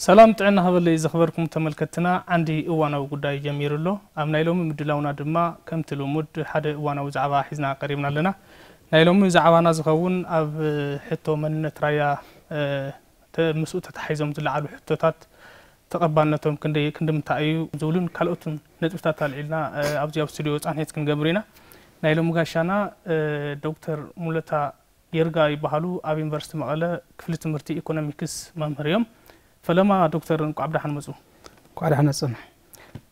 ሰላም ጥዕና ሃበለይ ዝኽበርኩም ተመልከትና፣ ዓንዲ እዋናዊ ጉዳይ ጀሚሩ ኣሎ። ኣብ ናይ ሎሚ ምድላውና ድማ ከምቲ ልሙድ ሓደ እዋናዊ ዛዕባ ሒዝና ቀሪብና ኣለና። ናይ ሎሚ ዛዕባና ዝኸውን ኣብ ሕቶ መንነት ራያ እ፣ ተ- ምስኡ ተታሒዞም ዝለዓሉ ሕቶታት ተቐባልነቶም ክንደይ ክንድምንታይ እዩ ዝብሉን ካልኦትን ነጥብታት ኣልዒልና እ፣ ኣብዚ ኣብ ስቱዲዮ ፃንሒት ክንገብር ኢና። ናይ ሎሚ ጋሻና እ፣ ዶክተር ሙለታ ይርጋ ይበሃሉ። ኣብ ዩኒቨርሲቲ መቐለ ክፍሊ ትምህርቲ ኢኮኖሚክስ መምህር እዮም። ፈለማ ዶክተር፣ እንቋዕ ብደሓን መፁ። እንቋዕ ደሓን መፁና።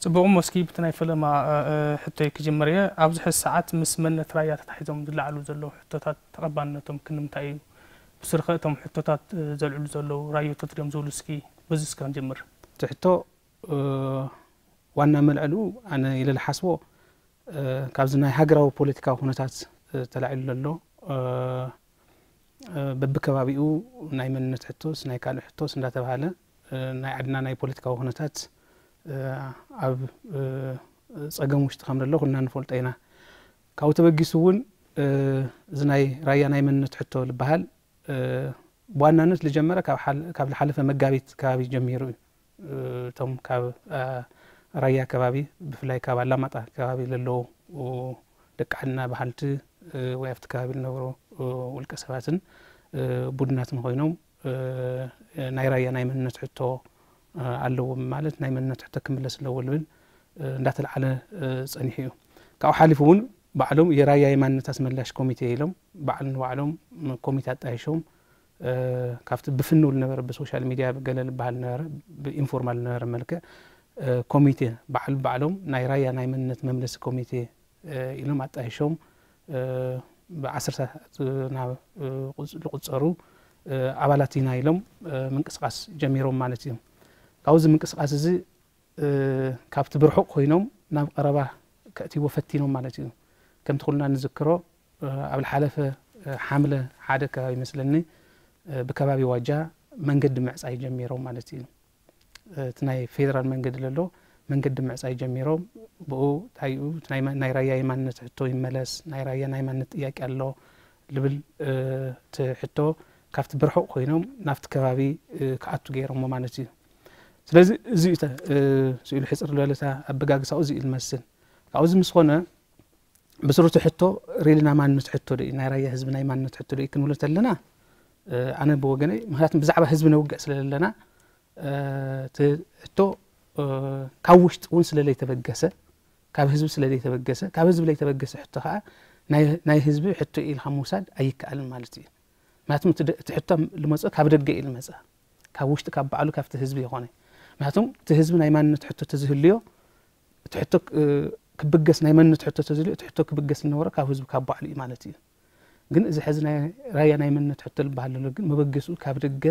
ፅቡቕ እሞ፣ እስኪ ብቲ ናይ ፈለማ እ፣ እ፣ ሕቶይ ክጅምር እየ። ኣብዚ ሕዚ ሰዓት ምስ መንነት ራያ ተታሒዞም ዝለዓሉ ዘለዉ ሕቶታት ተቐባልነቶም ክንምንታይ እዩ? ብስርኸ እቶም ሕቶታት እ፣ ዘልዕሉ ዘለዉ ራዮቶት ድዮም ዝብሉ፣ እስኪ በዚ እስከ ክንጅምር። እቲ ሕቶ እ፣ ዋና መልዕሉ ኣነ ኢለ ዝሓስቦ እ፣ ካብዚ ናይ ሃገራዊ ፖለቲካዊ ኩነታት እ፣ ተላዒሉ ዘሎ እ፣ እ፣ በብከባቢኡ ናይ መንነት ሕቶስ ናይ ካልእ ሕቶስ እንዳተባሃለ እ፣ ናይ ዓድና ናይ ፖለቲካዊ ኩነታት እ፣ ኣብ እ፣ ጸገም ውሽጢ ከም ዘሎ ኩልና ንፈልጦ ኢና። ካብኡ ተበጊሱ እውን እ፣ እዚ ናይ ራያ ናይ መንነት ሕቶ ዝበሃል እ፣ ብዋናነት ዝጀመረ ካብ ሓል- ካብ ዝሓለፈ መጋቢት ከባቢ ጀሚሩ እዩ። እ፣ እቶም ካብ እ፣ ራያ ከባቢ፣ ብፍላይ ካብ ኣላማጣ ከባቢ ዘለዉ እ፣ ደቂ ዓድና በሃልቲ እ፣ ወይ ኣብቲ ከባቢ ዝነበሩ እ፣ ውልቀ ሰባትን እ፣ ቡድናትን ኮይኖም እ፣ ናይ ራያ ናይ መንነት ሕቶ እ፣ ኣለዎም ማለት ናይ መንነት ሕቶ ክምለስ ኣለዎ ዝብል እ፣ እንዳተልዓለ እ፣ ጸኒሑ እዩ። ካብኡ ሓሊፉ እውን ባዕሎም የራያ የማንነት ኣስመላሽ ኮሚቴ ኢሎም ባዕል ንባዕሎም ኮሚቴ ኣጣይሾም እ፣ ካብቲ ብፍንው ዝነበረ ብሶሻል ሚድያ ገለ ዝበሃል ነበረ ብኢንፎርማል ዝነበረ መልክዕ እ፣ ኮሚቴ ባዕል ባዕሎም ናይ ራያ ናይ መንነት መምለሲ ኮሚቴ እ፣ ኢሎም ኣጣይሾም እ፣ ብዓሰርታት ናብ እ፣ ቁጽ- ዝቁጸሩ እ፣ ኣባላት ኢና ኢሎም እ፣ ምንቅስቃስ ጀሚሮም ማለት እዩ። ካብዚ ምንቅስቃስ እዚ እ፣ ካብቲ ብርሑቕ ኮይኖም ናብ ቀረባ ከእትይዎ ፈቲኖም ማለት እዩ። ከምቲ ኩልና ንዝክሮ እ፣ ኣብ ዝሓለፈ እ፣ ሓምለ ሓደ ከባቢ ይመስለኒ እ፣ ብከባቢ ዋጃ መንገዲ ምዕጻይ ጀሚሮም ማለት እዩ። እ፣ እቲ ናይ ፌደራል መንገዲ ዘሎ መንገዲ ምዕጻይ ጀሚሮም ብኡ እንታይ እዩ እቲ ናይ ማ- ናይ ራያ የማንነት ሕቶ ይመለስ፣ ናይ ራያ ናይ ማንነት ጥያቄ ኣሎ ልብል እ፣ እቲ ሕቶ ካብቲ ብርሑቕ ኮይኖም ናብቲ ከባቢ እ፣ ክኣቱ ገይሮሞ ማለት እዩ። ስለዚ እዚ እዩ ተ- እ፣ ስኢሉ ሕፅር ዝበለታ ኣበጋግሳኡ እዚ እዩ ዝመስል። ካብዚ ምስ ኮነ ብስሩቲ ሕቶ ሪልና ማንነት ሕቶ ዶ እዩ ናይ ራያ ህዝቢ ናይ ማንነት ሕቶ ዶ እዩ ክንብሎ ተለና እ፣ ኣነ ብወገነይ ምክንያቱም ብዛዕባ ህዝቢ ነውግዕ ስለ ዘለና እ፣ እቲ ሕቶ እ፣ ካብ ውሽጢ እውን ስለ ለይተበገሰ ካብ ህዝቢ ስለ ለይተበገሰ ካብ ህዝቢ ለይተበገሰ ሕቶ ከዓ ናይ ናይ ህዝቢ ሕቶ እዩ ኢልካ ምውሳድ ኣይከኣልን ማለት እዩ። ምክንያቱም እቲ ደ- እቲ ሕቶ ልመፅኦ ካብ ደገ እዩ ልመፅእ ካብ ውሽጢ ካብ ባዕሉ ካብቲ ህዝቢ ይኮነ። ምክንያቱም እቲ ህዝቢ ናይ ማንነት ሕቶ ተዝህልዮ እቲ ሕቶ ክ- ክብገስ ናይ መንነት ሕቶ ተዝልዮ እቲ ሕቶ ክብገስ ዝነበሮ ካብ ህዝቢ ካብ ባዕሉ እዩ ማለት እዩ። ግን እዚ ሕዚ ናይ ራያ ናይ መንነት ሕቶ ዝበሃል ዘሎ ግን መበገስኡ ካብ ደገ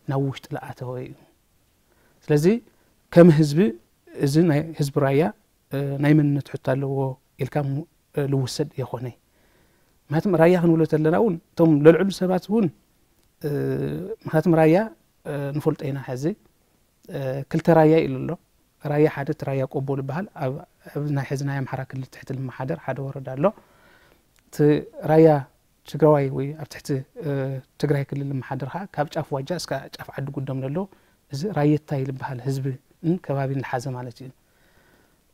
ናብ ውሽጢ ዝኣተወ እዩ። ስለዚ ከም ህዝቢ እዚ ናይ ህዝቢ ራያ እ፣ ናይ መንነት ሕቶ ኣለዎ ኢልካ ሙ- እ፣ ልውሰድ የኾነ። ምክንያቱም ራያ ክንብሎ ተለና እውን እቶም ለልዕሉ ሰባት እውን እ፣ ምክንያቱም ራያ እ፣ ንፈልጦ ኢና ሕዚ እ፣ ክልተ ራያ ኢሉ ኣሎ። ራያ ሓደ እቲ ራያ ቆቦ ዝበሃል ኣብ ኣብ ናይ ሕዚ ናይ ኣምሓራ ክልል ትሕቲ ልመሓደር ሓደ ወረዳ ኣሎ። እቲ ራያ ትግራዋይ ወይ ኣብ ትሕቲ እ፣ ትግራይ ክልል ልመሓደር ከዓ ካብ ጫፍ ዋጃ እስካ ጫፍ ዓዲ ጉዶም ዘሎ እዚ ራየታይ ዝበሃል ህዝቢ ን ከባቢን ዝሓዘ ማለት እዩ።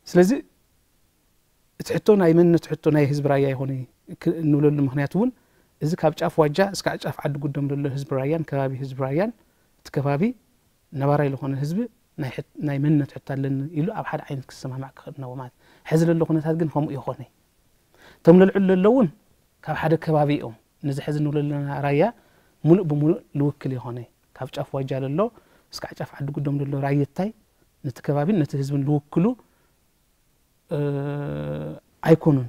ስለዚ እቲ ሕቶ ናይ መንነት ሕቶ ናይ ህዝቢ ራያ ይኾነ ክ- እንብለሉ ምክንያት እውን እዚ ካብ ጫፍ ዋጃ እስካዕ ጫፍ ዓዲ ጉዶም ዘሎ ህዝቢ ራያን ከባቢ ህዝቢ ራያን እቲ ከባቢ ነባራይ ዝኾነ ህዝቢ ናይ ሕት- ናይ መንነት ሕቶ ኣለኒ ኢሉ ኣብ ሓደ ዓይነት ክሰማማዕ ክኽእል ነዎ ማለት ሕዚ ዘሎ ኩነታት ግን ከምኡ ይኾነ እቶም ለልዕሉ ዘለውን ካብ ሓደ ከባቢ እዮም ነዚ ሕዚ ንብሎ ዘለና ራያ ሙሉእ ብሙሉእ ልውክል ይኾነ ካብ ጫፍ ዋጃ ለሎ እስካዕ ጫፍ ዓዲ ጉዶም ዘሎ ራየታይ ነቲ ከባቢን ነቲ ህዝብን ልውክሉ ኣይኮኑን።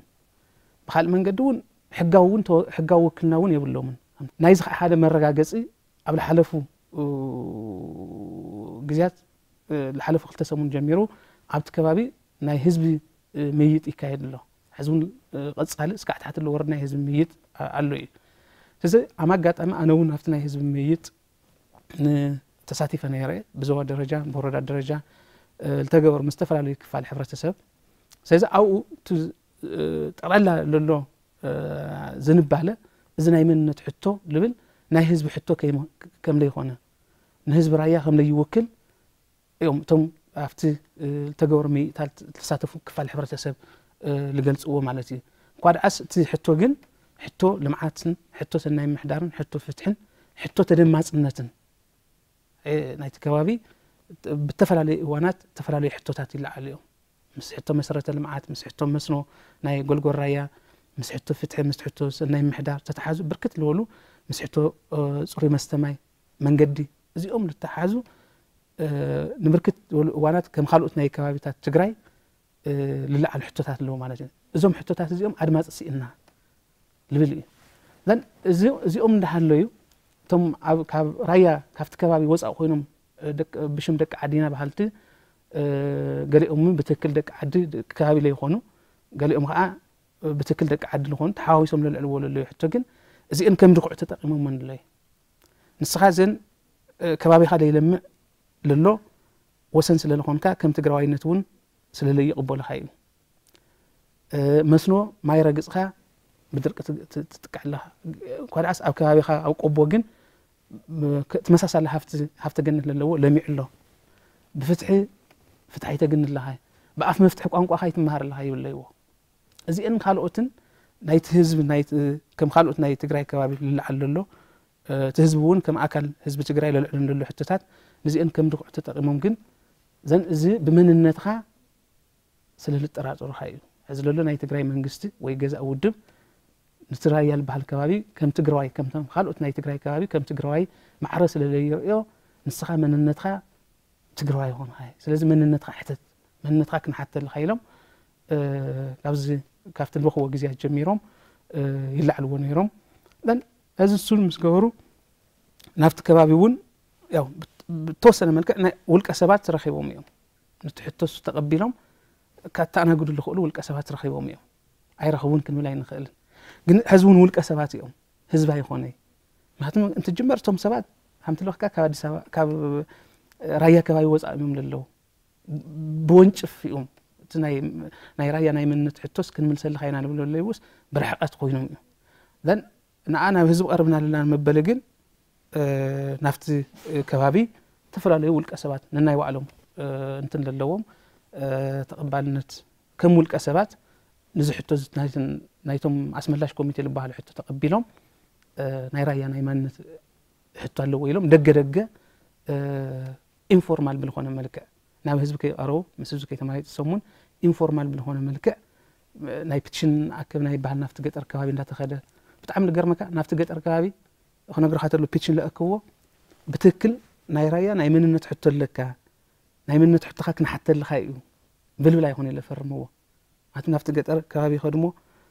ብካልእ መንገዲ እውን ሕጋዊ እውን ተወ- ሕጋዊ ውክልና እውን የብሎምን። ናይዚ ከዓ ሓደ መረጋገፂ ኣብ ዝሓለፉ ግዜያት ዝሓለፉ ክልተ ሰሙን ጀሚሩ ኣብቲ ከባቢ ናይ ህዝቢ ምይይጥ ይካየድ ኣሎ። ሕዚ እውን ቀፃሊ እስካዕ ትሕቲ ለወርድ ናይ ህዝቢ ምይይጥ ኣሎ እዩ። ስለዚ ኣብ ኣጋጣሚ ኣነ እውን ኣብቲ ናይ ህዝቢ ምይይጥ ተሳቲፈ ነይረ። ብዞባ ደረጃ ብወረዳ ደረጃ ዝተገበሩ ምስ ዝተፈላለዩ ክፋል ሕብረተሰብ። ስለዚ ኣብኡ እቲ ጠቕላላ ለሎ ዝንባለ፣ እዚ ናይ መንነት ሕቶ ዝብል ናይ ህዝቢ ሕቶ ከም ዘይኮነ፣ ንህዝቢ ራያ ከም ዘይውክል እዮም እቶም ኣብቲ ዝተገበረ ምይይጣት ዝተሳተፉ ክፋል ሕብረተሰብ ዝገልፅዎ ማለት እዩ። እንኳ ደኣስ እቲ ሕቶ ግን ሕቶ ልምዓትን ሕቶ ሰናይ ምሕዳርን ሕቶ ፍትሕን ሕቶ ተደማፅነትን ናይቲ ከባቢ ብተፈላለዩ እዋናት ዝተፈላለዩ ሕቶታት ይለዓሉ እዮም። ምስ ሕቶ መሰረተ ልምዓት፣ ምስ ሕቶ መስኖ ናይ ጎልጎል ራያ፣ ምስ ሕቶ ፍትሒ፣ ምስ ሕቶ ሰናይ ምሕዳር ተተሓዙ ብርክት ዝበሉ፣ ምስ ሕቶ ፅሩይ መስተ ማይ፣ መንገዲ፣ እዚኦም ዝተሓዙ ንብርክት ዝበሉ እዋናት ከም ካልኦት ናይ ከባቢታት ትግራይ ዝለዓሉ ሕቶታት ኣለዉ ማለት እዩ። እዞም ሕቶታት እዚኦም ኣድማፂ ስኢንና ዝብል እዩ። እዚኦም እንዳሃለዩ እቶም ካብ ራያ ካብቲ ከባቢ ወፃእ ኮይኖም ብሽም ደቂ ዓዲና በሃልቲ፣ ገሊኦም ብትክክል ደቂ ዓዲ ከባቢ ለይኮኑ፣ ገሊኦም ከዓ ብትክክል ደቂ ዓዲ ዝኾኑ ተሓዋዊሶም ለልዕልዎ ለለዩ ሕቶ ግን እዚአን ከም ድኩዕ ተጠቂሞም ኣለዩ። ንስኻ ዘን ከባቢኻ ለይለምዕ ለሎ ወሰን ስለ ዝኾንካ ከም ትግራዋይነት እውን ስለ ለይቕበሉኻ እዩ። መስኖ ማይ ረግፅኻ ብድርቂ ትጥቃዕ ኣለኻ። እኳ ደኣስ ኣብ ከባቢኻ ኣብ ቆቦ ግን ተመሳሳሊ ሃፍቲ ገነት ለለዎ ለሚዑ ኣሎ። ብፍትሒ ፍትሒ ኣይተግኒ ኣለኻ፣ ብኣፍ መፍትሒ ቋንቋኻ ኣይትመሃር ኣለኻ ይብለይዎ። እዚአን ካልኦትን ናይቲ ህዝቢ ከም ካልኦት ናይ ትግራይ ከባቢ ልለዓል ዘሎ እቲ ህዝቢ እውን ከም ኣካል ህዝቢ ትግራይ ለልዕሉ ዘሎ ሕቶታት ንዚአን ከም ድኩዕ ተጠቂሞም ግን ዘን እዚ ብመንነትኻ ስለ ልጠራጠሩኻ እዩ። ሕዚ ለሎ ናይ ትግራይ መንግስቲ ወይ ገዛእ ውድብ ንትራያ ዝበሃል ከባቢ ከም ትግራዋይ ከምቶም ካልኦት ናይ ትግራይ ከባቢ ከም ትግራዋይ ማዕረ ስለ ለይርእዮ ንስኻ መንነትካ ትግራዋይ ይኾንካ። ስለዚ መንነትካ ሕተት፣ መንነትካ ክንሓተልካ ኢሎም ካብዚ ካብቲ ንረኽቦ ግዜያት ጀሚሮም ይላዕልዎ ነይሮም። ሕዚ እሱን ምስ ገበሩ ናብቲ ከባቢ እውን ያው ብተወሰነ መልክዕ ናይ ውልቀ ሰባት ረኺቦም እዮም። ነቲ ሕቶ እሱ ተቐቢሎም ካተኣናግዱ ዝኽእሉ ውልቀ ሰባት ረኺቦም እዮም። ኣይረኸቡን ክንብል ኣይንኽእልን። ግን ሕዚ እውን ውልቀ ሰባት እዮም፣ ህዝቢ ኣይኾነይ። ምክንያቱም እንትጅመር እቶም ሰባት ከምቲ ለኽካ ካብ ኣዲስ ኣበባ ካብ ራያ ከባቢ ወፃእ እዮም ለለዉ። ብወንጭፍ እዮም እቲ ናይ ራያ ናይ መንነት ሕቶስ ክንምልሰልኻ ኢና ንብሎ ለይውስ ብርሕቀት ኮይኖም እዮም። ዘን ንዓ ናብ ህዝቢ ቀርብና ኣለና መበሊ ግን ናብቲ ከባቢ ዝተፈላለዩ ውልቀ ሰባት ነናይ ባዕሎም እንትን ለለዎም ተቐባልነት ከም ውልቀ ሰባት ንዚ ሕቶ ናይቶም ኣስመላሽ ኮሚቴ ዝበሃሉ ሕቶ ተቐቢሎም ናይ ራያ ናይ ማንነት ሕቶ ኣለዎ ኢሎም ደገ ደገ ኢንፎርማል ብልኾነ መልክዕ ናብ ህዝቢ ከይቀረቡ ምስ ህዝቢ ከይተማይጥሰሙን ኢንፎርማል ብልኾነ መልክዕ ናይ ፒቲሽን ኣከብ ናይ በሃል ናብቲ ገጠር ከባቢ እንዳተኸደ ብጣዕሚ ልገርመካ ናብቲ ገጠር ከባቢ ክነግርካ ተሎ ፒቲሽን ለእክዎ ብትክክል ናይ ራያ ናይ መንነት ሕቶ ኣለካ ናይ መንነት ሕቶኻ ክንሓተልኻ እዩ ብልብል ኣይኮነ ለፈርምዎ ኣቲ ናብቲ ገጠር ከባቢ ከድሞ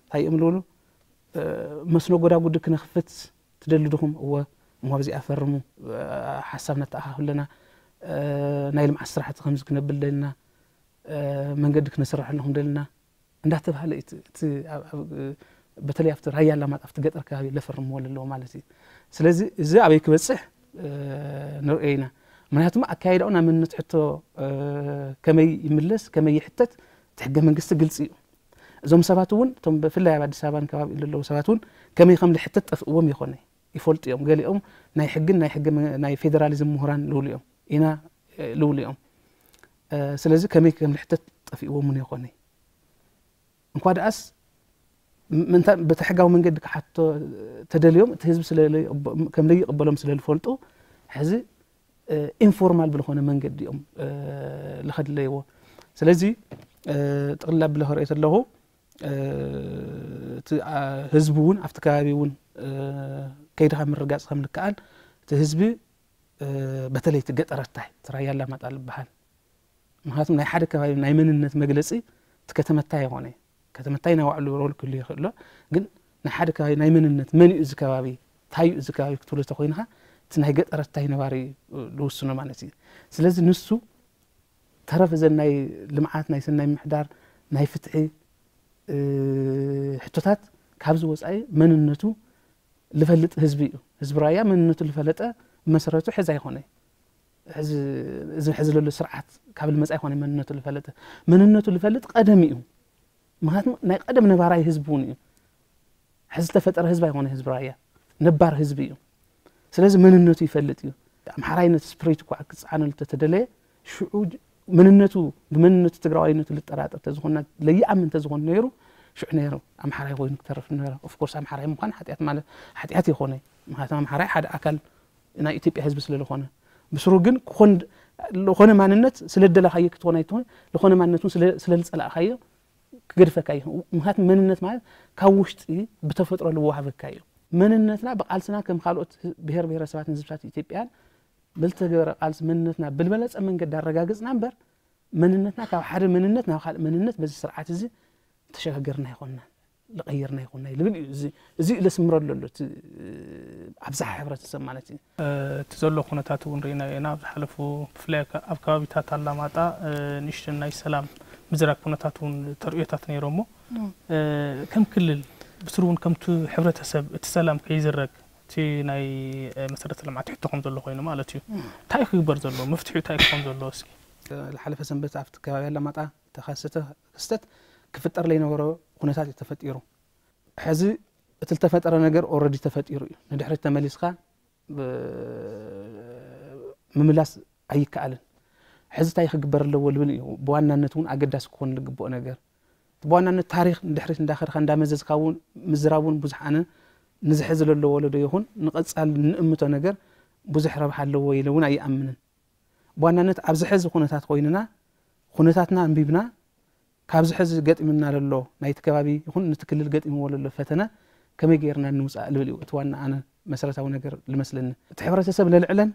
እንታይ እዮም ልብሉ መስኖ ጎዳጉዲ ክነኽፍት ትደሊ ድኹም እወ እሞ ኣብዚኣ ፈርሙ ሓሳብ ነተኣኻኽብ ኣለና ናይ ልምዓት ስራሕቲ ከምዚ ክነብል ደልና መንገዲ ክነስርሐሉ ክንደልና እንዳተባሃለ እቲ በተለይ ኣብቲ ራያ ኣላማጣ ኣብቲ ገጠር ከባቢ ለፈርምዎ ኣለዎ ማለት እዩ ስለዚ እዚ ኣበይ ክበፅሕ ንርእዮ ኢና ምክንያቱም ኣካይዳኡ ናብ መንነት ሕቶ ከመይ ይምለስ ከመይ ይሕተት እቲ ሕገ መንግስቲ ግልፂ እዩ እዞም ሰባት እውን እቶም ብፍላይ ኣብ ኣዲስ ኣበባን ከባቢ ዘለዉ ሰባት እውን ከመይ ከም ዝሕተት ጠፍእዎም ይኾነ ይፈልጡ እዮም ገሊኦም ናይ ሕግን ናይ ሕገ ናይ ፌደራሊዝም ምሁራን ልውሉ እዮም ኢና ልውሉ እዮም ስለዚ ከመይ ከም ዝሕተት ጠፍእዎም እውን ይኾነ እንኳ ደኣስ ምእንታ በቲ ሕጋዊ መንገዲ ክሓቶ ተደልዮም እቲ ህዝቢ ከም ለይቕበሎም ስለ ዝፈልጡ ሕዚ ኢንፎርማል ብዝኾነ መንገዲ እዮም ልኸድለይዎ ስለዚ ጥቕላ ብለ ክርእዮ ኣለኹ ህዝቢ እውን ኣብቲ ከባቢ እውን ከይድኻ ምርጋፅ ከም ልከኣል እቲ ህዝቢ በተለይ እቲ ገጠረታይ እቲ ራያ ኣላማጣ ዝበሃል ምክንያቱም ናይ ሓደ ከባቢ ናይ መንነት መግለፂ እቲ ከተመታይ ይኾነ ከተመታይ ናይ ባዕሉ ሮል ክህሉ ይኽእሎ ግን ናይ ሓደ ከባቢ ናይ መንነት መን እዩ እዚ ከባቢ እንታይ እዩ እዚ ከባቢ ክትብሎ ተኮይንካ እቲ ናይ ገጠረታይ ነባሪ ዝውስኖ ማለት እዩ ስለዚ ንሱ ተረፍ እዘን ናይ ልምዓት ናይ ሰናይ ምሕዳር ናይ ፍትሒ ሕቶታት ካብዚ ወፃኢ መንነቱ ልፈልጥ ህዝቢ እዩ ህዝቢ ራያ መንነቱ ልፈለጠ መሰረቱ ሕዚ ኣይኮነ እዚ ሕዚ ለሎ ስርዓት ካብ ልመፃ ይኮነ መንነቱ ልፈለጠ መንነቱ ልፈልጥ ቀደም እዩ ምክንያቱ ናይ ቀደም ነባራይ ህዝቢ እውን እዩ ሕዚ ዝተፈጠረ ህዝቢ ኣይኮነ ህዝቢ ራያ፣ ነባር ህዝቢ እዩ። ስለዚ መንነቱ ይፈልጥ እዩ። ኣምሓራይነት ስፕሪት እኳ ክፀዓነሉ ተተደለየ ሽዑ መንነቱ ብመንነቱ ትግራዋይነቱ ልጠራጠር ተዝኾንና ለይኣምን ተዝኾን ነይሩ ሽዑ ነይሩ ኣምሓራይ ኮይኑ ክተርፍ ነበረ። ኦፍኮርስ ኣምሓራይ ምዃን ሓጢኣት ማለት ሓጢኣት ይኾነ። ምክንያቱም ኣምሓራይ ሓደ ኣካል ናይ ኢትዮጵያ ህዝቢ ስለዝኾነ ብስሩ ግን ዝኾነ ማንነት ስለደለኻዮ ክትኾን ኣይትኾን ዝኾነ ማንነቱን ስለዝፀላእካዮ ክገድፈካ እዩ። ምክንያቱ መንነት ማለት ካብ ውሽጢ ብተፈጥሮ ልወሃበካ እዩ። መንነትና ብቃልስና ከም ካልኦት ብሄር ብሄረሰባትን ህዝብታት ኢትዮጵያን ብልተገበረ ቃልሲ መንነትና ብልበለፀ መንገዲ ኣረጋግፅና እምበር መንነትና ካብ ሓደ መንነት ናብ ካልእ መንነት በዚ ስርዓት እዚ ተሸጋገርና ይኮንና ልቀይርና ይኮንና ልብል እዩ። እዚ እዩ ለስምረሉ ኣሎ ኣብዛሓ ሕብረተሰብ ማለት እዩ። እቲ ዘሎ ኩነታት እውን ርኢና ኢና ኣብ ዝሓለፉ ብፍላይ ኣብ ከባቢታት ኣላማጣ ንእሽተን ናይ ሰላም ምዝራግ ኩነታት እውን ተርእዮታት ነይሮሞ ከም ክልል ብስሩ እውን ከምቲ ሕብረተሰብ እቲ ሰላም ከይዝረግ እቲ ናይ መሰረተ ልምዓት ሕቶ ከም ዘሎ ኮይኑ ማለት እዩ። እንታይ ክግበር ዘለዎ መፍትሒ እንታይ ክኾን ዘለዎ እስኪ? ዝሓለፈ ሰንበት ኣብቲ ከባቢ ኣላማጣ ተኸሰተ ክስተት ክፍጠር ለይነበሮ ኩነታት እዩ ተፈጢሩ። ሕዚ እቲ ዝተፈጠረ ነገር ኦረዲ ተፈጢሩ እዩ። ንድሕሪት ተመሊስካ ምምላስ ኣይከኣልን። ሕዚ እንታይ ክግበር ኣለዎ ልብል እዩ ብዋናነት እውን ኣገዳሲ ክኾን ዝግብኦ ነገር። ብዋናነት ታሪኽ ንድሕሪት እንዳኸድካ እንዳመዘዝካ እውን ምዝራብ እውን ብዙሕ ኣነ ንዚ ሕዚ ለሎ ወለዶ ይኹን ንቐፃል ንእምቶ ነገር ብዙሕ ረብሓ ኣለዎ ኢለ እውን ኣይኣምንን። ብዋናነት ኣብዚ ሕዚ ኩነታት ኮይንና ኩነታትና ኣንቢብና ካብዚ ሕዚ ገጢምና ለሎ ናይቲ ከባቢ ይኹን ንቲ ክልል ገጢምዎ ለሎ ፈተነ ከመይ ገይርና ንውፃእ ልብል እዩ እቲ ዋና ኣነ መሰረታዊ ነገር ልመስለኒ። እቲ ሕብረተሰብ ለልዕለን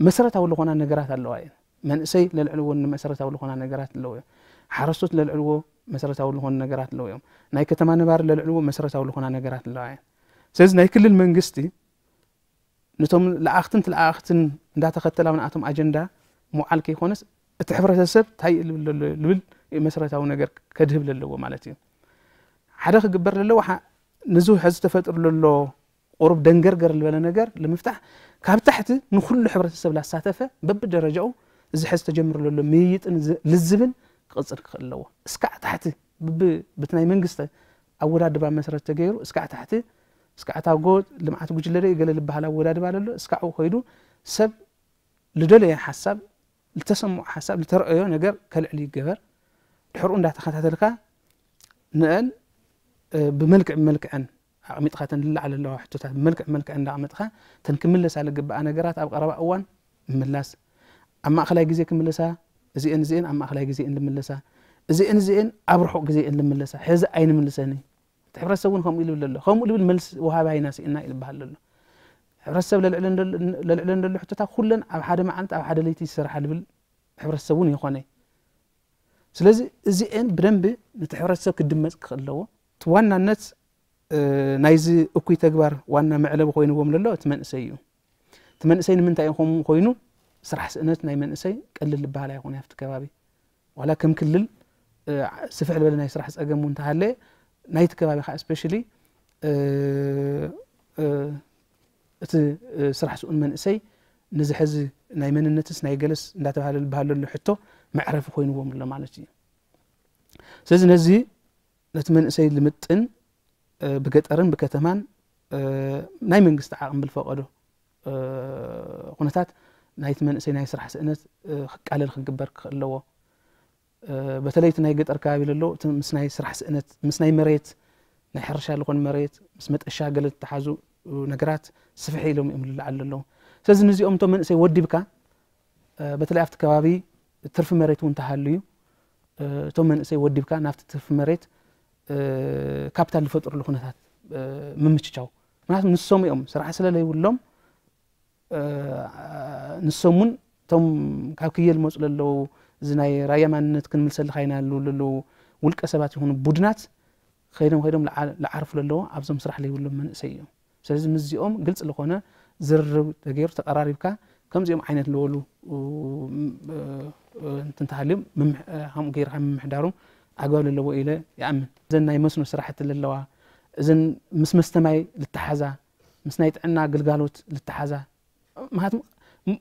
መሰረታዊ ዝኾና ነገራት ኣለዋ እየን። መንእሰይ ለልዕልዎ መሰረታዊ ዝኾና ነገራት ኣለዎ እዮም። ሓረስቶት ለልዕልዎ መሰረታዊ ዝኾኑ ነገራት ኣለዎ እዮም። ናይ ከተማ ነባሪ ለልዕልዎ መሰረታዊ ዝኾና ነገራት ኣለዋ እየን። ስለዚ ናይ ክልል መንግስቲ ነቶም ለኣኽትን ትለኣኽትን እንዳተኸተላ ንኣቶም ኣጀንዳ ምውዓል ከይኮነስ እቲ ሕብረተሰብ እንታይ እዩ ልብል ዘሎ ልብል መሰረታዊ ነገር ከድህብ ለለዎ ማለት እዩ። ሓደ ክግበር ለለዎ ንዙ ሕዚ ተፈጥሩ ለሎ ቁሩብ ደንገርገር ዝበለ ነገር ንምፍታሕ ካብ ታሕቲ ንኩሉ ሕብረተሰብ ላሳተፈ በብደረጃኡ እዚ ሕዚ ተጀምሩ ዘሎ ምይይጥን ልዝብን ክቕፅል ክኽእል ኣለዎ። እስካዕ ታሕቲ ብቲ ናይ መንግስቲ ኣወዳድባ መሰረት ተገይሩ እስካዕ ታሕቲ እስካዕ እታ ጎ ልምዓት ጉጅለ ዶ ገለ ዝበሃል ኣወዳድባ ለሎ እስካዕ ከይዱ ሰብ ልደለየ ሓሳብ ልተሰምዖ ሓሳብ ልተረኣዮ ነገር ከልዕል ይገበር። ድሕርኡ እንዳተኸታተልካ ንአን ብመልክዕ ብመልክዐን ኣቕሚጥካ ተን ልላዓል ኣለዋ ሕቶታት ብመልክዕ ብመልክዐን እንዳቕመጥካ ተን ክምለሳ ልግብኣ ነገራት ኣብ ቀረባ እዋን ምምላስ ኣብ ማእኸላይ ግዜ ክምለሳ እዚአን እዚአን ኣብ ማእኸላይ ግዜ እየን ልምለሳ እዚአን እዚአን ኣብ ርሑቕ ግዜ እየን ልምለሳ ሕዚ ኣይንምልሰን እቲ ሕብረተሰብ እውን ከምኡ ይልብል ኣሎ ከምኡ ልብል መልሲ ወሃቢ ኣይና ስኢና ይልበሃል ዘሎ ሕብረተሰብ ለልዕለን ዘሎ ሕቶታት ኩለን ኣብ ሓደ መዓልቲ ኣብ ሓደ ለይቲ ይሰርሓ ልብል ሕብረተሰብ እውን ይኾነ ስለዚ እዚኤን ብደንቢ ነቲ ሕብረተሰብ ክድመፅ ክኽእል ኣለዎ እቲ ዋናነት ናይዚ እኩይ ተግባር ዋና መዕለቢ ኮይንዎም ለሎ እቲ መንእሰይ እዩ እቲ መንእሰይ ንምንታይ እዩ ከምኡ ኮይኑ ስራሕ ስእነት ናይ መንእሰይ ቀልል ዝበሃል ኣይኮነ ኣብቲ ከባቢ ዋላ ከም ክልል ስፍሕ ዝበለ ናይ ስራሕ ፀገም እውን ተሃለ ናይቲ ከባቢ ከዓ especially እቲ ስራሕ ስኡን መንእሰይ ንዚ ሕዚ ናይ መንነትስ ናይ ገለስ እንዳተባሃለ ዝበሃል ዘሎ ሕቶ መዕረፊ ኮይንዎም ኣሎ ማለት እዩ። ስለዚ ነዚ ነቲ መንእሰይ ልምጥን ብገጠርን ብከተማን ናይ መንግስቲ ዓቕሚ ብልፈቀዶ ኩነታት ናይቲ መንእሰይ ናይ ስራሕ ስእነት ክቃለል ክግበር ክኽእል ኣለዎ። በተለይ እቲ ናይ ገጠር ከባቢ ለሎ እቲ ምስ ናይ ስራሕ ስእነት ምስ ናይ መሬት ናይ ሕርሻ ዝኾን መሬት ምስ መጠሻ ገለ ዝተሓዙ ነገራት ስፍሕ ኢሎም እዮም ልለዓሉ ኣለዉ። ስለዚ ንዚኦም እቶም መንእሰይ ወዲብካ በተለይ ኣብቲ ከባቢ ትርፊ መሬት እውን ተሃልዩ እቶም መንእሰይ ወዲብካ ናብቲ ትርፊ መሬት ካፒታል ዝፈጥርሉ ኩነታት ምምችቻው ምክንያቱ ንሶም እዮም ስራሕ ስለለይብሎም ንሶም እውን እቶም ካብ ክየል መፁ ለለዉ እዚ ናይ ራያ ማንነት ክንምልሰልካ ኢና ሉ ለለዉ ውልቀ ሰባት ይኹኑ ቡድናት ከይዶም ከይዶም ልዓርፉ ለለዎ ኣብዞም ስራሕ ለይብሎም መንእሰይ እዮም። ስለዚ ምስዚኦም ግልፂ ልኾነ ዝርርብ ተገይሩ ተቀራሪብካ ከምዚኦም ዓይነት ልበሉ እንትንተሃልዮም ከምኡ ገይርካ ምምሕዳሮም ኣግባብ ለለዎ ኢለ ይኣምን። እዘን ናይ መስኖ ስራሕቲ ለለዋ እዘን ምስ መስተማይ ልተሓዛ ምስ ናይ ጥዕና ግልጋሎት ልተሓዛ ምክንያቱ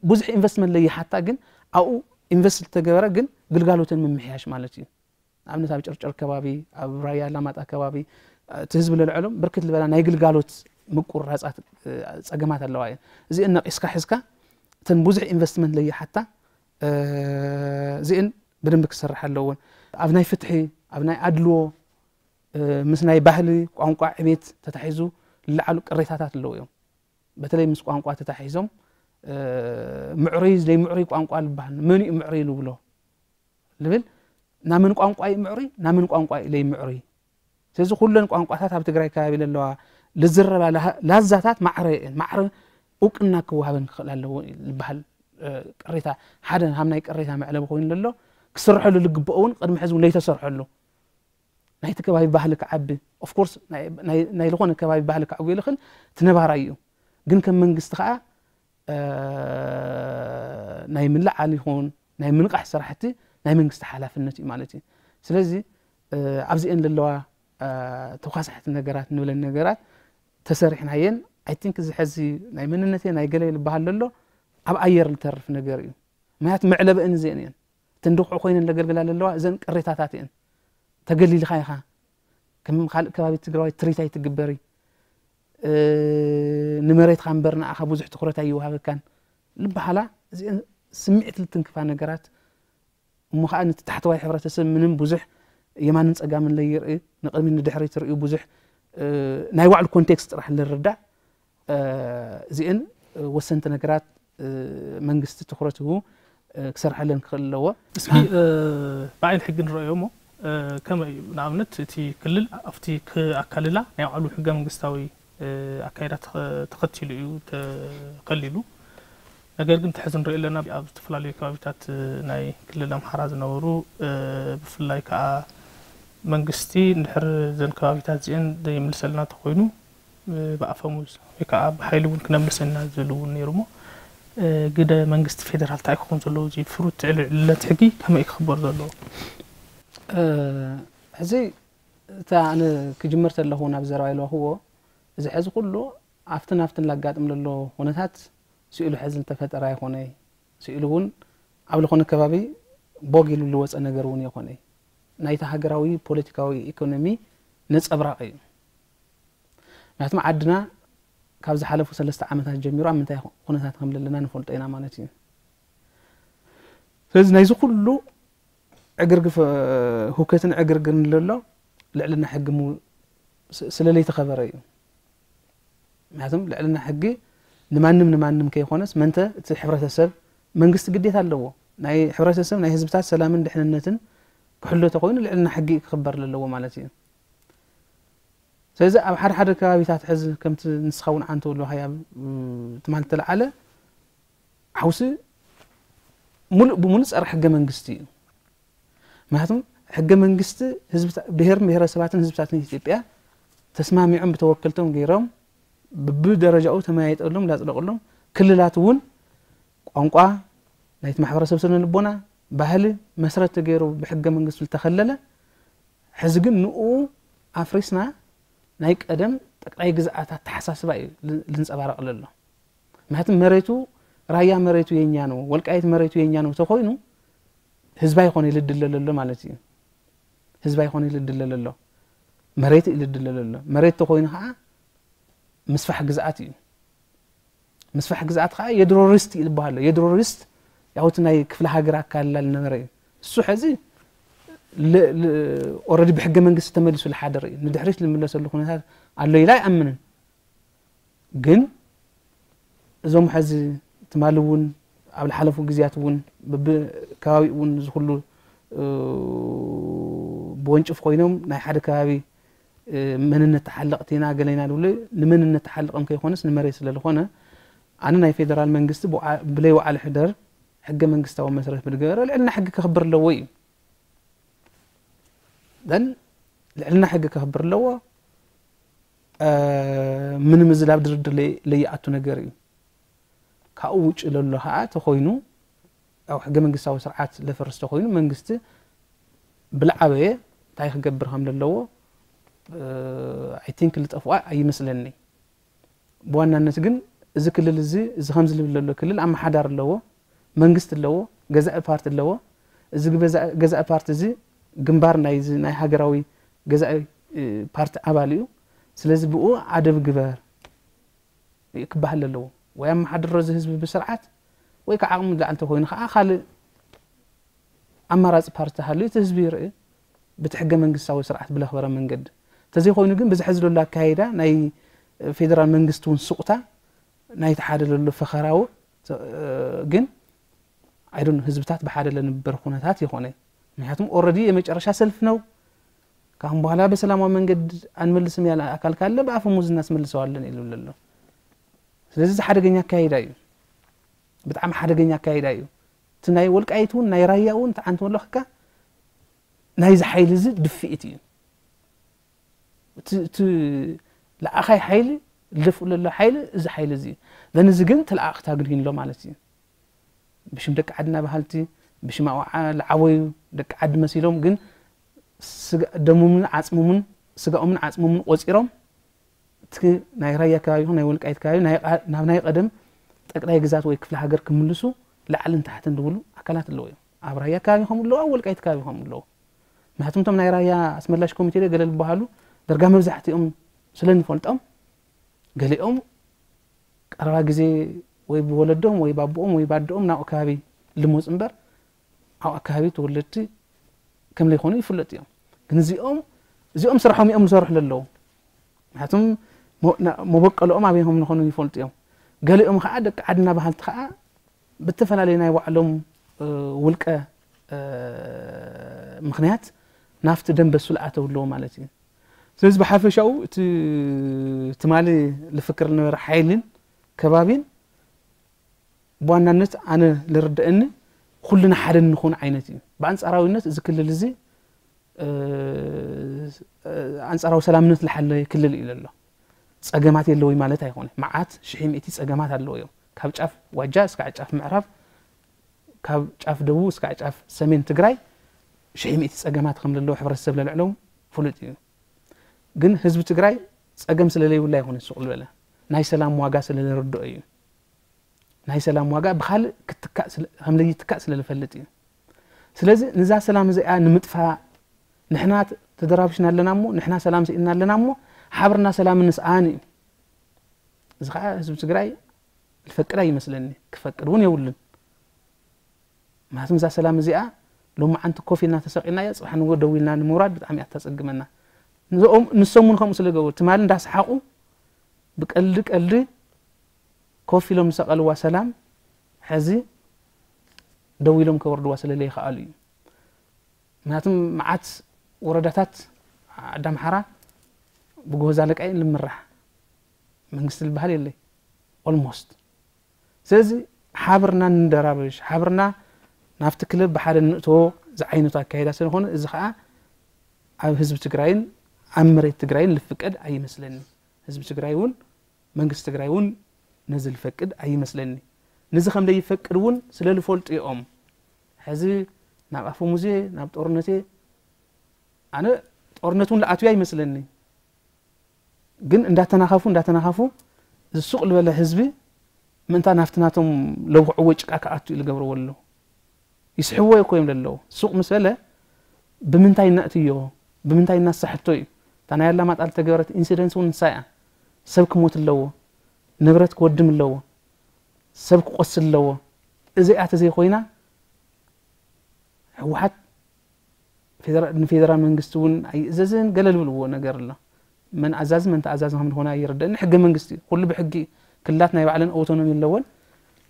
ብዙሕ ኢንቨስትመንት ለይሓታ ግን ኣብኡ ኢንቨስት ልተገበረ ግን ግልጋሎተን ምምሕያሽ ማለት እዩ። ንኣብነት ኣብ ጨርጨር ከባቢ ኣብ ራያ ኣላማጣ ከባቢ እቲ ህዝቢ ለልዐሎም ብርክት ዝበላ ናይ ግልጋሎት ምቁርራፃት ጸገማት ኣለዋ እየን። እዚአን ነቒስካ ሒዝካ እተን ብዙሕ ኢንቨስትመንት ለይሓታ እዚአን ብደንቢ ክሰርሕ ኣለዎን። ኣብ ናይ ፍትሒ፣ ኣብ ናይ ኣድልዎ፣ ምስ ናይ ባህሊ ቋንቋ ዕቤት ተታሒዙ ዝለዓሉ ቅሬታታት ኣለዉ እዮም። በተለይ ምስ ቋንቋ ተታሒዞም ምዕሩይ ዘይምዕሩይ ቋንቋ ዝበሃል፣ መን እዩ ምዕሩይ ንብሎ? ዝብል፣ ናመን ቋንቋ እዩ ምዕሩይ፣ ናመን ቋንቋ እዩ ዘይምዕሩይ? ስለዚ ኩለን ቋንቋታት ኣብ ትግራይ ከባቢ ዘለዋ ልዝረባ ላዛታት ማዕረ እየን፣ ማዕረ እውቅና ክወሃበን ክኽእል ኣለዎ ዝበሃል ቅሬታ፣ ሓደ ሃም ናይ ቅሬታ መዕለቢ ኮይኑ ዘሎ፣ ክስርሐሉ ዝግብኦ እውን ቅድሚ ሕዚ እውን ለይተሰርሐሉ፣ ናይቲ ከባቢ ባህሊ ክዓቢ፣ ኦፍኮርስ ናይ ዝኾነ ከባቢ ባህሊ ክዓቢ ይልኽል፣ እቲ ነባራይ እዩ። ግን ከም መንግስቲ ከዓ ናይ ምልዓል ይኹን ናይ ምንቃሕ ስራሕቲ ናይ መንግስቲ ሓላፍነት እዩ ማለት እዩ። ስለዚ ኣብዚአን ዘለዋ ተኳሳሕቲ ነገራት ንብለን ነገራት ተሰሪሕናየን። ኣይ ቲንክ እዚ ሕዚ ናይ መንነተይ ናይ ገለ ዝበሃል ዘሎ ኣብ ኣየር ዝተርፍ ነገር እዩ። ምክንያቱ መዕለበእን እዚአን እየን። እተን ድኹዒ ኮይነን ዘገልግላ ዘለዋ እዘን ቅሬታታት እየን። ተገሊልካ ኢኻ፣ ከም ካልእ ከባቢ ትግራዋይ ትሪት ኣይትግበሪ፣ ንመሬትካ እምበር ንኣኻ ብዙሕ ትኹረት ኣይወሃበካን ዝበሃላ፣ እዚአን ስምዒት ልትንክፋ ነገራት እሞ ከዓ ነቲ ታሕተዋይ ሕብረተሰብ ምንም ብዙሕ የማንን ጸጋምን ለይርኢ፣ ንቕድሚት ንድሕሪት ትርእዩ ብዙሕ ናይ ባዕሉ ኮንቴክስት ጥራሕ ልርዳእ፣ እዚአን ወሰንቲ ነገራት መንግስቲ ትኹረት ሂቡ ክሰርሐለን ክኽእል ኣለዎ። እስኪ ብዓይኒ ሕጊ ንረኣዮ እሞ ከመይ እዩ ንኣብነት እቲ ክልል ኣብቲ ኣካልላ ናይ ባዕሉ ሕገ መንግስታዊ ኣካይዳ ተኸቲሉ እዩ ተኸሊሉ። ነገር ግን ተሕዚ ንሪኦ ኣለና ኣብ ዝተፈላለዩ ከባቢታት ናይ ክልል ኣምሓራ ዝነበሩ ብፍላይ ከዓ መንግስቲ እንድሕር ዘን ከባቢታት እዚአን ዘይምልሰልና ተኮይኑ ብኣፈሙዝ ወይ ከዓ ብሓይሊ እውን ክነምልሰና ዝብል እውን ነይሩ እሞ ግደ መንግስቲ ፌደራል እንታይ ክኸውን ዘለዎ እዚ ፍሩት ዕልዕልነት ሕጊ ከመይ ክኽበር ዘለዎ? ሕዚ እታ ኣነ ክጅምር ተለኹ ናብ ዘረባ ኢልዋክዎ እዚ ሕዚ ኩሉ ኣብትን ኣብትን ላጋጥም ለሎ ኩነታት ስኢሉ ሕዚ ዝተፈጠረ ኣይኮነይ። ስኢሉ እውን ኣብ ዝኾነ ከባቢ ቦግ ኢሉ ልወፀ ነገር እውን የኾነይ። ናይቲ ሃገራዊ ፖለቲካዊ ኢኮኖሚ ነፀብራቕ እዩ። ምክንያቱም ዓድና ካብ ዝሓለፉ ሰለስተ ዓመታት ጀሚሩ ኣብ ምንታይ ኩነታት ከም ዘለና ንፈልጦ ኢና ማለት እዩ። ስለዚ ናይዚ ኩሉ ዕግርግፍ ሁከትን ዕግርግርን ለሎ ልዕልና ሕጊ ስለለይተኸበረ እዩ። ምክንያቱም ልዕልና ሕጊ ንማንም ንማንም ከይኮነስ መንተ እቲ ሕብረተሰብ መንግስቲ ግዴታ ኣለዎ። ናይ ሕብረተሰብ ናይ ህዝብታት ሰላምን ድሕንነትን ክሕሎ ተኮይኑ ልዕልና ሕጊ ክኽበር ኣለዎ ማለት እዩ። ስለዚ ኣብ ሓደ ሓደ ከባቢታት ሕዚ ከምቲ ንስኻ እውን ዓንተ ወሎ ሃያ ትማል ተለዓለ ሓውሲ ሙሉእ ብሙሉእ ፀረ ሕገ መንግስቲ እዩ። ምክንያቱም ሕገ መንግስቲ ብሄር ብሄረሰባትን ህዝብታትን ኢትዮጵያ ተስማሚዖም ብተወከልቶም ገይሮም ብብደረጃኡ ተመያይጠሎም ላፅደቅሎም ክልላት እውን ቋንቋ ናይቲ ማሕበረሰብ ስነ ልቦና ባህሊ መስረት ተገይሩ ብሕገ መንግስቲ ዝተኸለለ ሕዚ ግን ንኡ ኣፍሪስና ናይ ቀደም ጠቅላይ ግዝኣት ኣተሓሳስባ እዩ ልንፀባረቅ ለሎ። ምክንያቱም መሬቱ ራያ መሬቱ የኛ ነው፣ ወልቃይት መሬቱ የኛ ነው ተኮይኑ ህዝባይ ኮነ ልድለ ለሎ ማለት እዩ። ህዝባይ ኮነ ልድለ ለሎ መሬት እዩ ልድለ ለሎ። መሬት ተኮይኑ ከዓ ምስፋሕ ግዝኣት እዩ። ምስፋሕ ግዝኣት ከዓ የድሮ ርስት ይልበሃሎ። የድሮ ርስት ያው እቲ ናይ ክፍለ ሃገር ኣካልላ ልነበረ እዩ። እሱ ሕዚ ኦረዲ ብሕገ መንግስቲ ተመሊሱ ልሓደር እዩ። ንድሕሪት ልምለሰሉ ኩነታት ኣሎ ኢላ ኣይኣምንን። ግን እዞም ሕዚ ትማሊ እውን ኣብ ዝሓለፉ ግዜያት እውን በብከባቢኡ እውን እዚ ኩሉ ብወንጭፍ ኮይኖም ናይ ሓደ ከባቢ መንነት ተሓለቕቲ ኢና ገለ ኢና ዝብሉ ንመንነት ተሓልቕም ከይኮነስ ንመሬት ስለ ዝኾነ ኣነ ናይ ፌደራል መንግስቲ ብለይ ወዓለ ሕደር ሕገ መንግስታዊ መስረት ብዝገበረ ልዕልና ሕጊ ከኽብር ኣለዎ እዩ። ደን ልዕልና ሕጊ ከኽብር ኣለዎ። ምንም እዚ ናብ ድርድር ለይኣቱ ነገር እዩ። ካብኡ ውጭ ለሎ ከዓ ተኮይኑ ኣብ ሕገ መንግስታዊ ስርዓት ለፈርስ ተኮይኑ መንግስቲ ብልዓበየ እንታይ ክገብር ከም ዘለዎ ኣይ ቲንክ ልጠፍኣ ኣይመስለኒ። ብዋናነት ግን እዚ ክልል እዚ እዚ ከምዚ ልብል ዘሎ ክልል ኣመሓዳር ኣለዎ፣ መንግስቲ ኣለዎ፣ ገዛኢ ፓርቲ ኣለዎ። እዚ ገዛኢ ፓርቲ እዚ ግንባር ናይ እዚ ናይ ሃገራዊ ገዛኢ እ፣ ፓርቲ ኣባል እዩ። ስለዚ ብኡ ኣደብ ግበር ክበሃል ኣለዎ። ወይ ኣመሓድሮ እዚ ህዝቢ ብስርዓት፣ ወይ ከዓ ዓቕሚ ላዕሊ ተኮይኑ ከዓ ካልእ ኣማራፂ ፓርቲ ተሃልዩ እቲ ህዝቢ ይርኢ፣ በቲ ሕገ መንግስታዊ ስርዓት ብለኽበረ መንገዲ። እንተዘይኮይኑ ግን ብዚ ሕዚ ዘሎ ኣካይዳ ናይ ፌደራል መንግስቲ እውን ስቑታ ናይቲ ሓደ ዘሎ ፈኸራዊ ተ-፣ ግን ኣይዶን ህዝብታት ብሓደ ለንበር ኩነታት ይኾነ። ምክንያቱም ኦረዲ የመጨረሻ ሰልፍ ነው። ካብም በኋላ በሰላማዊ መንገድ አንመልስም ያለ አካል ካለ በአፈሙዝ እናስመልሰዋለን ይሉ ኣሎ። ስለዚህ እዚ ሓደገኛ አካሄዳ እዩ። ብጣዕሚ ሓደገኛ አካሄዳ እዩ። እቲ ናይ ወልቃይት እውን ናይ ራያ እውን ተዓንተ ወለኽካ ናይዚ ሓይሊ እዚ ድፍኢት እዩ። እቲ እቲ ለኣኻይ ሓይሊ ልደፍኡ ለሎ ሓይሊ እዚ ሓይሊ እዚ እዩ። ዘን እዚ ግን ተለኣእኽታ ግን ሂንሎ ማለት እዩ። ብሽም ደቂ ዓድና በሃልቲ ብሽም ኣውዓ ለዓወዩ ደቂ ዓዲ መሲሎም ግን ስጋ ደሞምን ዓፅሞምን ስጋኦምን ዓፅሞምን ቆፂሮም እቲ ናይ ራያ ከባቢ ይኹን ናይ ወልቃይት ከባቢ ናይ ቃ- ናብ ናይ ቀደም ጠቅላይ ግዛት ወይ ክፍለ ሃገር ክምልሱ ላዕልን ታሕትን ዝብሉ ኣካላት ኣለዉ እዮም። ኣብ ራያ ከባቢ ከምኡ ኣለዉ፣ ኣብ ወልቃይት ከባቢ ከምኡ ኣለዉ። ምክንያቱም እቶም ናይ ራያ ኣስመላሽ ኮሚቴ ዶ ገለ ዝበሃሉ ደርጋ መብዛሕትኦም ስለ ንፈልጦም ገሊኦም ቀረባ ግዜ ወይ ብወለዶም ወይ ባቦኦም ወይ ባዶኦም ናብኡ ከባቢ ልሞፁ እምበር ኣብኡ ኣካባቢ ተወለድቲ ከም ዘይኮኑ ይፍለጥ እዮም። ግን እዚኦም እዚኦም ስርሖም እዮም ዝሰርሑ ዘለዉ። ምክንያቱም ሞ- ና- መበቀልኦም ኣበይ ከም ዝኾኑ ይፈልጡ እዮም። ገሊኦም ከዓ ደቂ ዓድና በሃልቲ ከዓ ብተፈላለዩ ናይ ባዕሎም እ፣ ውልቀ እ፣ ምክንያት ናብቲ ደንበ ሱል ኣተው ኣለዎ ማለት እዩ። ስለዚ ብሓፈሻኡ እቲ ትማሊ ልፍክር ዝነበረ ሓይልን ከባቢን ብዋናነት ኣነ ልርድአኒ ኩልና ሓደ ንኹን ዓይነት እዩ። ብኣንፃራዊነት እዚ ክልል እዚ እ፣ እ፣ ኣንፃራዊ ሰላምነት ዝሓለየ ክልል እዩ ዘሎ። ፀገማት የለውይ ማለት ኣይኮነ። መዓት ሽሒ ሚእቲ ፀገማት ኣለዎ እዮም። ካብ ጫፍ ዋጃ እስካዕ ጫፍ ምዕራብ፣ ካብ ጫፍ ደቡብ እስካዕ ጫፍ ሰሜን ትግራይ ሽሒ ሚእቲ ፀገማት ከም ዘለዎ ሕብረተሰብ ለልዕሎም ፍሉጥ እዩ። ግን ህዝቢ ትግራይ ፀገም ስለለይብሉ ኣይኮነ ሱቕ ዝበለ ናይ ሰላም ዋጋ ስለለርድኦ እዩ። ናይ ሰላም ዋጋ ብካልእ ክትካእ ስለ- ከም ለይትካእ ስለ ዝፈልጥ እዩ። ስለዚ ንዛ ሰላም እዚኣ ንምጥፋእ ንሕና ተደራብሽና ኣለና እሞ ንሕና ሰላም ስኢንና ኣለና እሞ ሓብርና ሰላም ንስኣን እዩ። እዚ ከዓ ህዝቢ ትግራይ ዝፈቅድ ኣይመስለኒ፣ ክፈቅድ እውን የብሉን። ምክንያቱም እዛ ሰላም እዚኣ ሎማዓንቲ ኮፍ ኢልና ተሰቂልና እያ፣ ፅባሕ ንጎ ደው ኢልና ንምውራድ ብጣዕሚ እያ ተፀግመና። ንሶም ንሶም እውን ከምኡ ስለ ገበሩ ትማሊ እንዳሰሓቁ ብቀልዲ ቀልዲ ኮፍ ኢሎም ዝሰቐልዋ ሰላም ሕዚ ደው ኢሎም ከወርድዋ ስለ ዘይከኣሉ እዩ። ምክንያቱም መዓት ወረዳታት ዓዲ ኣምሓራ ብጎበዝ ኣለቃ እዩ ልምራሕ፣ መንግስቲ ዝበሃል የለይ ኦልሞስት። ስለዚ ሓብርና ንደራበሽ፣ ሓብርና ናብቲ ክለብ ብሓደ ንእትዎ ዝዓይነቱ ኣካይዳ ስለዝኾነ እዚ ከዓ ኣብ ህዝቢ ትግራይን ኣብ መሬት ትግራይን ልፍቀድ ኣይመስለኒ። ህዝቢ ትግራይ እውን መንግስቲ ትግራይ እውን ነዚ ልፈቅድ ኣይመስለኒ። ነዚ ከም ዘይፈቅድ እውን ስለ ልፈልጡ እዮም። ሕዚ ናብ ኣፈሙዜ ናብ ጦርነቴ ኣነ ጦርነት እውን ልኣትዩ ኣይመስለኒ። ግን እንዳተናኸፉ እንዳተናኸፉ ዝሱቕ ዝበለ ህዝቢ ምእንታ ናብቲ ናቶም ለብኽዕዎ ጭቃ ክኣቱ ኢሉ ገብርዎ ኣሎ። ይስሕዎ እኮ እዮም ዘለዉ። ሱቕ ምስ በለ ብምንታይ እናእትዮ ብምንታይ እናሳሕቶ እዩ። እታ ናይ ኣላማጣ ዝተገበረት ኢንሲደንስ እውን ንሳ እያ። ሰብ ክሞት ኣለዎ፣ ንብረት ክወድም ኣለዎ፣ ሰብ ክቆስል ኣለዎ። እዚኣ ተዘይኮይና ህወሓት ፌደራ- ንፌደራል መንግስቲ እውን ኣይእዘዝን ገለ ዝብልዎ ነገር ኣሎ። መን ኣዛዚ መን ተኣዛዚ ከም ዝኾነ ኣይርደእን። ሕገ መንግስቲ ኩሉ ብሕጊ ክልላት ናይ ባዕለን ኦቶኖሚ ኣለወን።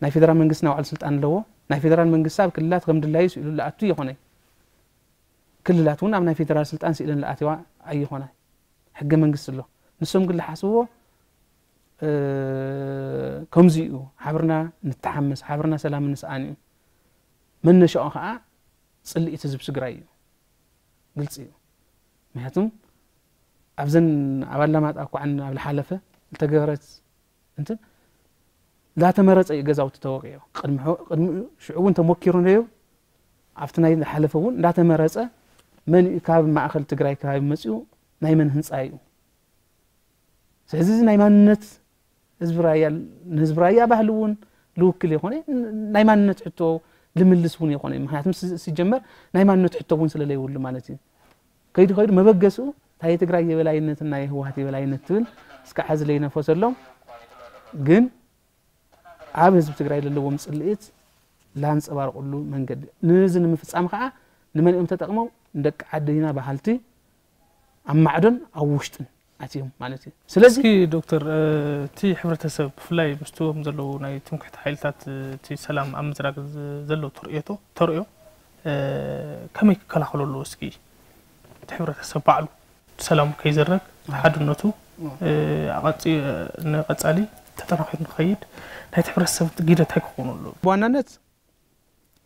ናይ ፌደራል መንግስቲ ናይ ባዕሉ ስልጣን ኣለዎ። ናይ ፌደራል መንግስቲ ኣብ ክልላት ከም ድላዩ ስኢሉ ልኣቱ ይኾነ። ክልላት እውን ኣብ ናይ ፌደራል ስልጣን ስኢለን ልኣትዋ ኣይኾነ። ሕገ መንግስቲ ኣሎ። ንሶም ግን ልሓስብዎ እ፣ ከምዚ እዩ። ሓብርና ንተሓመስ፣ ሓብርና ሰላም ንስኣን እዩ። መነሻኦ ከዓ ፅልኢት ህዝቢ ትግራይ እዩ። ግልፂ እዩ። ምክንያቱም ኣብዘን ኣብ ኣላማጣ እኳ ኣብ ዝሓለፈ ዝተገበረት እንትን እንዳተመረፀ እዩ ገዛውቲ ተወቂዑ። ቅድሚ ሕ- ቅድሚ ሽዑ እውን ተሞኪሩ ነይሩ። ኣብቲ ናይ ዝሓለፈ እውን እንዳተመረፀ መን እዩ ካብ ማእኸል ትግራይ ከባቢ መፂኡ ናይ መን ህንፃ እዩ። ስለዚ እዚ ናይ ማንነት ህዝቢ ራያ ንህዝቢ ራያ ባህሊ እውን ልውክል የኮነ ናይ ማንነት ሕቶ ልምልስ እውን የኮነ። ምክንያቱም ሲ- ሲጀመር ናይ ማንነት ሕቶ እውን ስለለይብሉ ማለት እዩ። ከይዱ ከይዱ መበገስኡ እንታይ ትግራይ የበላይነትን ናይ ህወሓት የበላይነት ትብል እስከ ሓዚ ለይነፈሰሎም። ግን ኣብ ህዝቢ ትግራይ ዘለዎም ፅልኢት ላንፀባርቁሉ መንገዲ፣ ንዚ ንምፍፃም ከዓ ንመን እዮም ተጠቅመው? ንደቂ ዓዲ ኢና በሃልቲ ኣብ ማዕዶን ኣብ ውሽጥን ኣትዮም ማለት እዩ። ስለዚ እስኪ ዶክተር፣ እቲ ሕብረተሰብ ብፍላይ ምስቶም ዘለዉ ናይ ትምክሕቲ ሓይልታት እቲ ሰላም ኣብ ምዝራግ ዘለዎ ተርእዮ ከመይ ክከላኸሎ ኣለዎ? እስኪ እቲ ሕብረተሰብ ባዕሉ ሰላሙ ከይዝረግ፣ ሓድነቱ ንቐፃሊ ተጠናኺሩ ንኸይድ ናይቲ ሕብረተሰብ ግደ እንታይ ክኾኑ ኣለዎ? ብዋናነት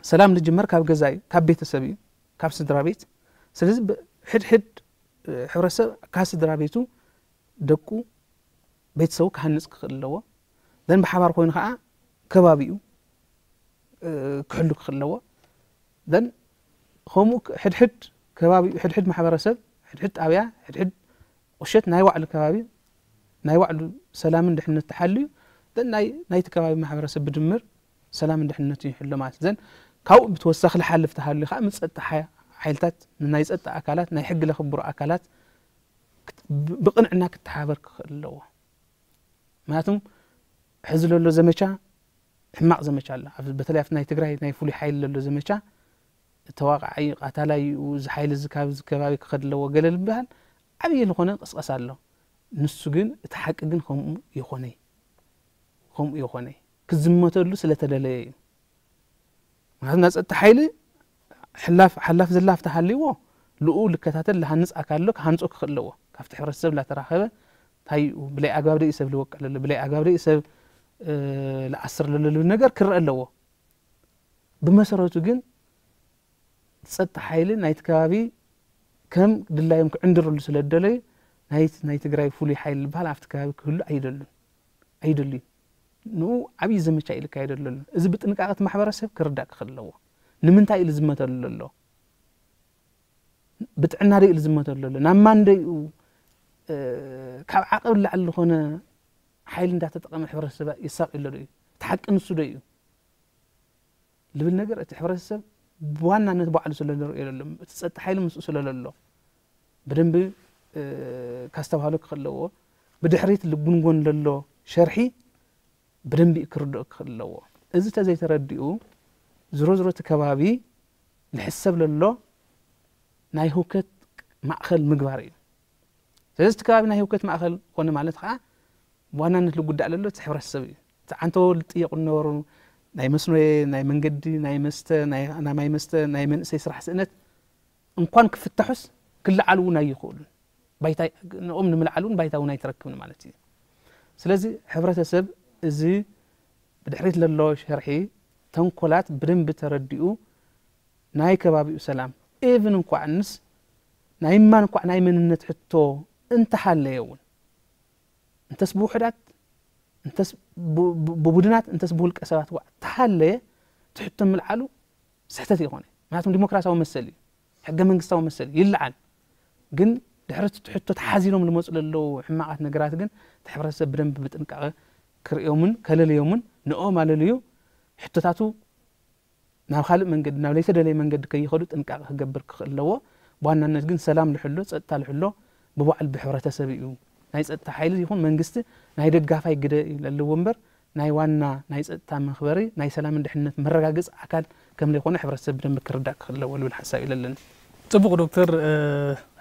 ሰላም ዝጅመር ካብ ገዛ እዩ፣ ካብ ቤተሰብ እዩ፣ ካብ ስድራ ቤት። ስለዚ ሕድሕድ ሕብረተሰብ ካብ ስድራ ቤቱ ደቁ ቤተሰቡ ክሃንፅ ክኽእል ኣለዎ። ዘን ብሓባር ኮይኑ ከዓ ከባቢኡ ክሕሉ ክኽእል ኣለዎ። ዘን ከምኡ ሕድሕድ ከባቢኡ፣ ሕድሕድ ማሕበረሰብ፣ ሕድሕድ ጣብያ፣ ሕድሕድ ቁሸት ናይ ባዕሉ ከባቢ ናይ ባዕሉ ሰላምን ድሕነት ተሓልዩ ዘን ናይ ናይቲ ከባቢ ማሕበረሰብ ብድምር ሰላምን ድሕነቱ ይሕሎ ማለት ዘን ካብኡ ብተወሳኺ ዝሓልፍ ተሃልዩ ከዓ ምስ ፀጥታ ሓይልታት ናይ ፀጥታ ኣካላት ናይ ሕጊ ለኽብሩ ኣካላት ብቕንዕና ክተሓበር ክኽእል ኣለዎ። ምክንያቱም ሕዚ ለሎ ዘመቻ ሕማቕ ዘመቻ ኣሎ። በተለይ ኣብቲ ናይ ትግራይ ናይ ፍሉይ ሓይሊ ለሎ ዘመቻ ተዋቃዓይ ቃታላይ እዚ ሓይሊ እዚ ካብ ከባቢ ክኸድ ኣለዎ ገለ ዝበሃል ዓብዪ ዝኾነ ቅስቀሳ ኣሎ። ንሱ ግን እቲ ሓቂ ግን ከምኡ ይኾነይ ከምኡ ይኾነይ ክዝመተሉ ስለተደለየ እዩ። ምክንያቱ ናይ ፀጥታ ሓይሊ ሕላፍ ሓላፍ ዘላፍ ተሃልይዎ ልኡ ልከታተል ልሃንፅ ኣካል ኣሎ ክሃንፆ ክኽእል ኣለዎ። ካብቲ ሕብረተሰብ ላተራኸበ እንታይ እዩ ብለይ ኣግባብ ደይ ሰብ ልወቀል ኣሎ ብለይ ኣግባብ ደይ ሰብ ልኣስር ለሎ ልብል ነገር ክረአ ኣለዎ። ብመሰረቱ ግን ፀጥታ ሓይሊ ናይቲ ከባቢ ከም ድላዮም ክዕንድርሉ ስለ ዝደለዩ ናይ ትግራይ ፍሉይ ሓይሊ ዝበሃል ኣብቲ ከባቢ ክህሉ ኣይደሉን ኣይደልዩ። ንኡ ዓብዪ ዘመቻ ኢሉ ካየደሉ ኣሎ። እዚ ብጥንቃቐ እቲ ማሕበረሰብ ክርዳእ ክኽእል ኣለዎ። ንምንታይ ኢሉ ዝመተሉ ኣሎ? ብጥዕና ዶ ኢሉ ዝመተሉ ኣሎ? ናብ ማን ዶ እዩ ካብ ዓቐብ ላዕሊ ዝኾነ ሓይሊ እንዳተጠቐመ ሕብረተሰብ ይሳቕ ኣሎ ዶ እዩ? እቲ ሓቂ ንሱ ዶ እዩ? ልብል ነገር እቲ ሕብረተሰብ ብዋናነት ባዕሉ ስለ ንርእዮ ዘሎ እቲ ፀጥታ ሓይሊ ምስኡ ስለ ለሎ ብደንቢ ካስተባህሎ ክኽእል ኣለዎ። ብድሕሪት ልጉንጎን ለሎ ሸርሒ ብደንቢ ክርድኦ ክኽእል ኣለዎ። እዚ ተዘይተረዲኡ ዝሮ ዝሮ እቲ ከባቢ ልሕሰብ ለሎ ናይ ህውከት ማእኸል ምግባር እዩ። ስለዚ እቲ ከባቢ ናይ ህውከት ማእኸል ኮነ ማለት ከዓ ብዋናነት ልጉዳእ ለሎ እቲ ሕብረተሰብ እዩ። እቲ ዓንተቦ ዝጥየቁ ዝነበሩ ናይ መስኖ ናይ መንገዲ ናይ መስተ ናይ ማይ መስተ ናይ መንእሰይ ስራሕ ስእነት እንኳን ክፍታሑስ ክለዓሉ እውን ኣይኽእሉን። ባይታ ንኦም ንምልዓል እውን ባይታ እውን ኣይትረክብን ማለት እዩ። ስለዚ ሕብረተሰብ እዚ ብድሕሪት ለሎ ሸርሒ ተንኮላት ብደንቢ ተረዲኡ ናይ ከባቢኡ ሰላም even እንኳዕ ንስ ናይ ማን እንኳዕ ናይ መንነት ሕቶ እንተሃለየ እውን እንተስ ብውሕዳት እንተስ ብቡድናት እንተስ ብውልቀ ሰባት ዋዕ ተሃለየ ትሕቶ ምልዓሉ ስሕተት ይኾነ። ምክንያቱም ዲሞክራሲያዊ መሰል እዩ፣ ሕገ መንግስታዊ መሰል እዩ፣ ይለዓል። ግን ድሕሪ ትሕቶ ተሓዚሎም ዝመፁ ለለዉ ሕማቓት ነገራት ግን እቲ ሕብረተሰብ ብደንብ ብጥንቃቐ ክርእዮምን ከለልዮምን ንኦም ኣለልዩ ሕቶታቱ ናብ ካልእ መንገዲ ናብ ለይተደለየ መንገዲ ከይኸዱ ጥንቃቐ ክገብር ክኽእል ኣለዎ። ብዋናነት ግን ሰላም ልሕሎ፣ ፀጥታ ልሕሎ ብባዕሉ ብሕብረተሰብ እዩ። ናይ ፀጥታ ሓይሊ ይኹን መንግስቲ ናይ ደጋፋይ ግደ እዩ ለለዎ እምበር ናይ ዋና ናይ ፀጥታ መኽበሪ ናይ ሰላምን ድሕነት መረጋገፂ ኣካል ከም ዘይኮነ ሕብረተሰብ ብደንቢ ክርዳእ ክኽእል ኣለዎ ልብል ሓሳብ እዩ ለለኒ። ፅቡቕ ዶክተር፣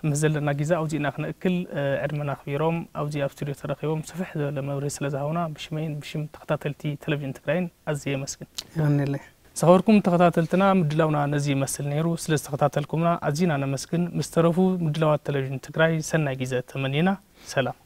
ምስ ዘለና ግዜ ኣብዚእና ክነእክል ዕድመና ኣኽቢሮም ኣብዚ ኣብ ስቱድዮ ተረኺቦም ስፍሕ ዝበለ መብርሂ ስለ ዝሃቡና ብሽመይን ብሽም ተኸታተልቲ ቴሌቪዥን ትግራይን ኣዝየ የመስግን። የቐንየለይ። ዝኸበርኩም ተኸታተልትና ምድላውና ነዚ ይመስል ነይሩ። ስለ ዝተኸታተልኩምና ኣዚና ነመስግን። ምስ ተረፉ ምድላዋት ቴሌቪዥን ትግራይ ሰናይ ግዜ ተመኒና። ሰላም።